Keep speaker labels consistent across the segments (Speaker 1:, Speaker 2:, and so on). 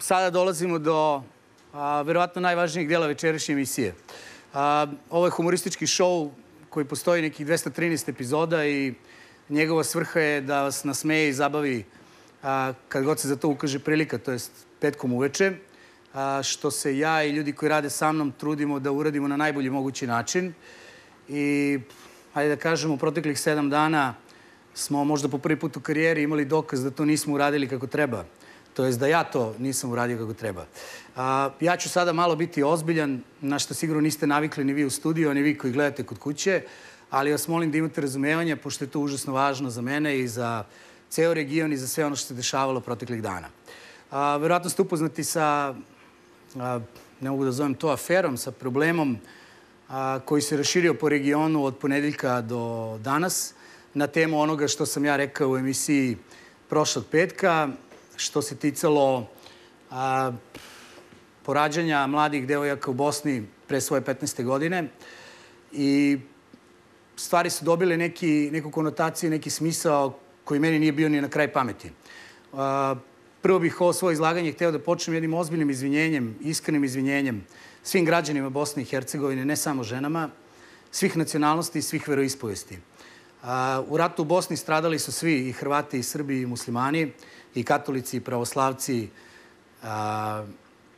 Speaker 1: sada dolazimo do verovatno najvažnijeg dela večerašnje emisije. Ovo je humoristički šou koji postoji nekih 213 epizoda i njegova svrha je da vas nasmeje i zabavi kad god se za to ukaže prilika, to jest petkom uveče, što se ja i ljudi koji rade sa mnom trudimo da uradimo na najbolji mogući način. I, hajde da kažemo, u proteklih 7 dana smo možda po prvi put u karijeri imali dokaz da to nismo uradili kako treba. To jest da ja to nisam uradio kako treba. Ja ću sada malo biti ozbiljan, na što sigurno niste navikli ni vi u studiju, ni vi koji gledate kod kuće, ali vas molim da imate razumevanja, pošto je to užasno važno za mene i za ceo region i za sve ono što se dešavalo proteklih dana. Verovatno ste upoznati sa, ne mogu da zovem to aferom, sa problemom koji se raširio po regionu od ponedeljka do danas na temu onoga što sam ja rekao u emisiji prošlog petka, što se ticalo porađanja mladih devojaka u Bosni pre svoje 15. godine. I stvari su dobile neku konotaciju, neki smisao koji meni nije bio ni na kraj pameti. Prvo bih ovo svoje izlaganje hteo da počnem jednim ozbiljnim izvinjenjem, iskrenim izvinjenjem svim građanima Bosne i Hercegovine, ne samo ženama, svih nacionalnosti i svih veroispovesti. U ratu u Bosni stradali su svi, i Hrvati, i Srbi, i muslimani, i katolici, i pravoslavci.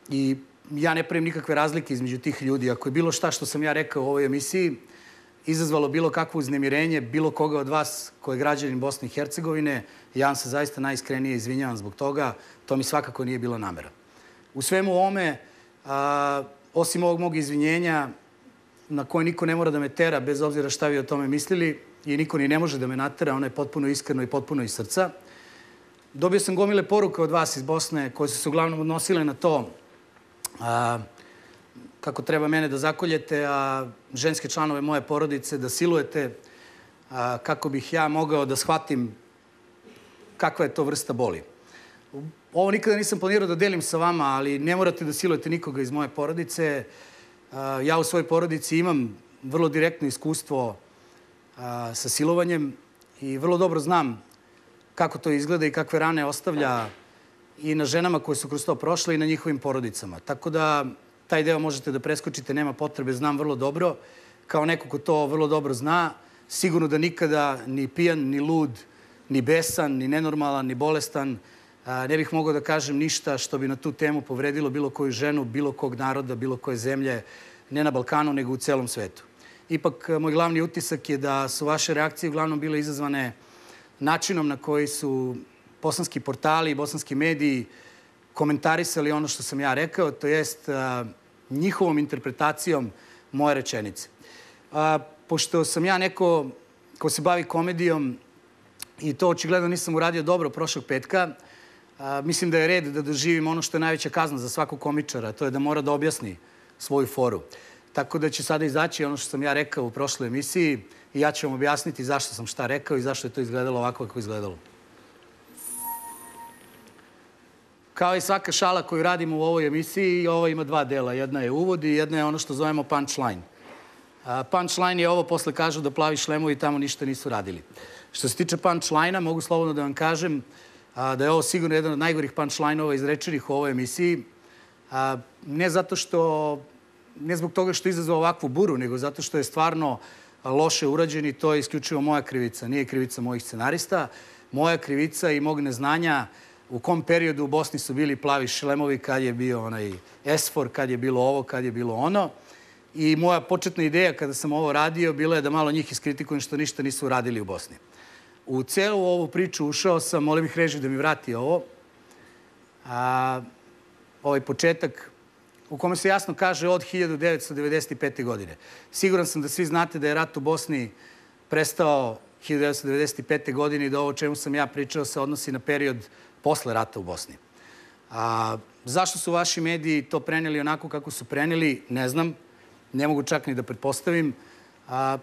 Speaker 1: I ja ne pravim nikakve razlike između tih ljudi. Ako je bilo šta što sam ja rekao u ovoj emisiji izazvalo bilo kakvo uznemirenje bilo koga od vas koji je građanin Bosne i Hercegovine, ja vam se zaista najiskrenije izvinjavam zbog toga. To mi svakako nije bila namera. U svemu ovome, osim ovog mog izvinjenja, na koje niko ne mora da me tera, bez obzira šta vi o tome mislili, i niko ni ne može da me natera, ono je potpuno iskreno i potpuno iz srca. Dobio sam gomile poruka od vas iz Bosne koje su se uglavnom odnosile na to kako treba mene da zakoljete, a ženske članove moje porodice da silujete, kako bih ja mogao da shvatim kakva je to vrsta boli. Ovo nikada nisam planirao da delim sa vama, ali ne morate da silujete nikoga iz moje porodice. Ja u svojoj porodici imam vrlo direktno iskustvo sa silovanjem i vrlo dobro znam kako to izgleda i kakve rane ostavlja i na ženama koje su kroz to prošle i na njihovim porodicama. Tako da taj deo možete da preskočite, nema potrebe, znam vrlo dobro. Kao neko ko to vrlo dobro zna, sigurno da nikada ni pijan, ni lud, ni besan, ni nenormalan, ni bolestan ne bih mogao da kažem ništa što bi na tu temu povredilo bilo koju ženu, bilo kog naroda, bilo koje zemlje, ne na Balkanu, nego u celom svetu. Ipak, moj glavni utisak je da su vaše reakcije uglavnom bile izazvane načinom na koji su bosanski portali i bosanski mediji komentarisali ono što sam ja rekao, to jest njihovom interpretacijom moje rečenice. Pošto sam ja neko ko se bavi komedijom i to očigledno nisam uradio dobro prošlog petka, mislim da je red da doživim ono što je najveća kazna za svakog komičara, to je da mora da objasni svoju foru. Tako da će sada izaći ono što sam ja rekao u prošloj emisiji i ja ću vam objasniti zašto sam šta rekao i zašto je to izgledalo ovako kako je izgledalo. Kao i svaka šala koju radimo u ovoj emisiji, ovo ima 2 dela. Jedna je uvod i jedna je ono što zovemo punchline. Punchline je ovo, posle kažu da plavi šlemovi tamo ništa nisu radili. Što se tiče punchline-a, mogu slobodno da vam kažem da je ovo sigurno jedan od najgorih punchline-ova izrečenih u ovoj emisiji. Ne zato što, ne zbog toga što je izazvao ovakvu buru, nego zato što je stvarno loše urađen i to je isključivo moja krivica. Nije krivica mojih scenarista. Moja krivica i mog neznanja u kom periodu u Bosni su bili plavi šlemovi, kad je bio onaj esfor, kad je bilo ovo, kad je bilo ono. I moja početna ideja kada sam ovo radio bila je da malo njih iskritikujem što ništa nisu uradili u Bosni. U celu ovu priču ušao sam, molim bih režiju da mi vrati ovo, ovaj početak u kome se jasno kaže od 1995. godine. Siguran sam da svi znate da je rat u Bosni prestao 1995. godine i da ovo o čemu sam ja pričao se odnosi na period posle rata u Bosni. Zašto su vaši mediji to preneli onako kako su preneli, ne znam. Ne mogu čak ni da pretpostavim.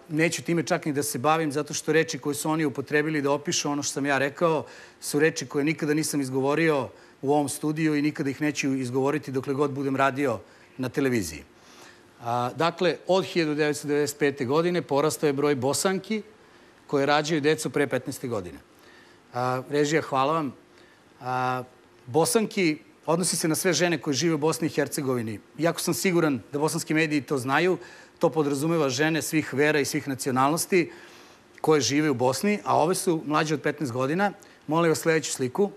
Speaker 1: Neću time čak ni da se bavim, zato što reči koje su oni upotrebili da opišu ono što sam ja rekao su reči koje nikada nisam izgovorio u ovom studiju i nikada ih neću izgovoriti dokle god budem radio na televiziji. Dakle, od 1995. godine porastao je broj Bosanki koje rađaju decu pre 15. godine. Režija, hvala vam. Bosanki odnosi se na sve žene koje žive u Bosni i Hercegovini. Iako sam siguran da bosanski mediji to znaju, to podrazumeva žene svih vera i svih nacionalnosti koje žive u Bosni, a ove su mlađe od 15 godina. Molim vas sljedeću sliku.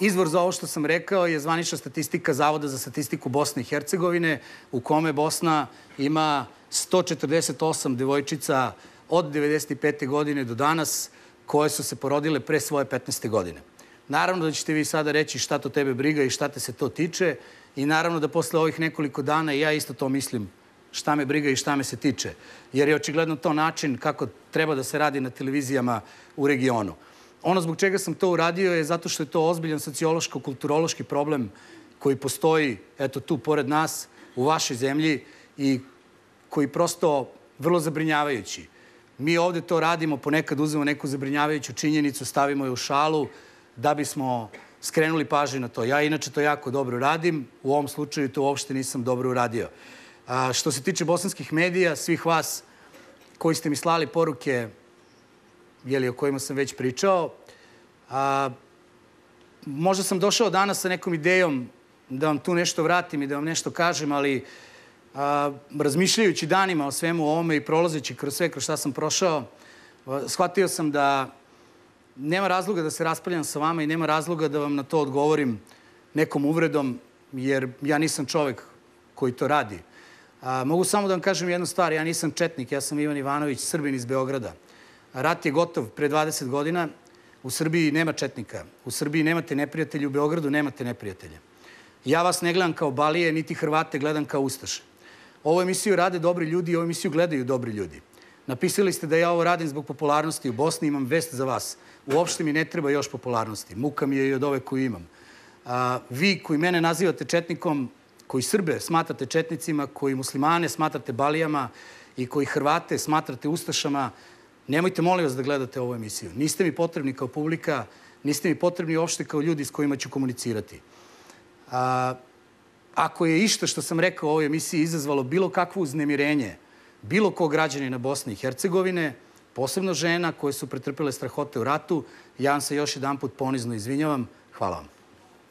Speaker 1: Izvor za ovo što sam rekao je zvanična statistika Zavoda za statistiku Bosne i Hercegovine, u kome Bosna ima 148 devojčica od 95. godine do danas koje su se porodile pre svoje 15. godine. Naravno da ćete vi sada reći šta to tebe briga i šta te se to tiče i naravno da posle ovih nekoliko dana ja isto to mislim šta me briga i šta me se tiče, jer je očigledno to način kako treba da se radi na televizijama u regionu. Ono zbog čega sam to uradio je zato što je to ozbiljan sociološko-kulturološki problem koji postoji, eto tu, pored nas, u vašoj zemlji i koji prosto vrlo zabrinjavajući. Mi ovde to radimo, ponekad uzmemo neku zabrinjavajuću činjenicu, stavimo je u šalu da bismo skrenuli pažnju na to. Ja inače to jako dobro radim, u ovom slučaju to uopšte nisam dobro uradio. Što se tiče bosanskih medija, svih vas koji ste mi slali poruke o kojima sam već pričao, možda sam došao danas sa nekom idejom da vam tu nešto vratim i da vam nešto kažem, ali razmišljajući danima o svemu ovome i prolazeći kroz sve kroz šta sam prošao, shvatio sam da nema razloga da se raspravljam sa vama i nema razloga da vam na to odgovorim nekom uvredom, jer ja nisam čovek koji to radi. Mogu samo da vam kažem jednu stvar, ja nisam četnik, ja sam Ivan Ivanović, Srbin iz Beograda. Rat je gotov pre 20 godina, u Srbiji nema četnika, u Srbiji nemate neprijatelje, u Beogradu nemate neprijatelje. Ja vas ne gledam kao Balije, niti Hrvate gledam kao Ustaše. Ovu emisiju rade dobri ljudi i ovu emisiju gledaju dobri ljudi. Napisali ste da ja ovo radim zbog popularnosti u Bosni, imam vest za vas. Uopšte mi ne treba još popularnosti. Muka mi je i od ove koju imam. Vi koji mene nazivate četnikom, koji Srbe smatrate četnicima, koji muslimane smatrate Balijama i koji Hrvate smatrate Ustašama, nemojte molim vas da gledate ovu emisiju. Niste mi potrebni kao publika, niste mi potrebni uopšte kao ljudi s kojima ću komunicirati. Ako je išta što sam rekao u ovoj emisiji izazvalo bilo kakvo uznemirenje bilo kog građanina Bosne i Hercegovine, posebno žena koje su pretrpele strahote u ratu, ja vam se još jedanput ponizno izvinjavam. Hvala vam.